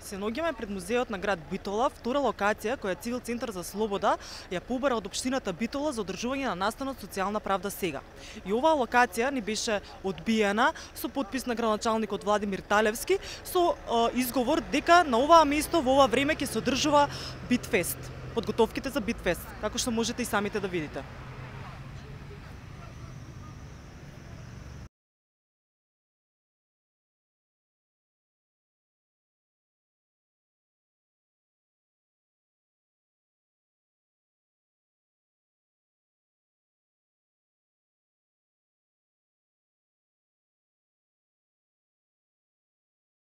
Се наоѓаме пред музеот на град Битола, втора локација која Цивил центар за слобода ја побара од општината Битола за одржување на настанот Социјална правда сега. И оваа локација ни беше одбиена со потпис на градоначалникот Владимир Талевски со изговор дека на оваа место во ова време ќе се одржува Битфест, подготовките за Битфест, како што можете и самите да видите.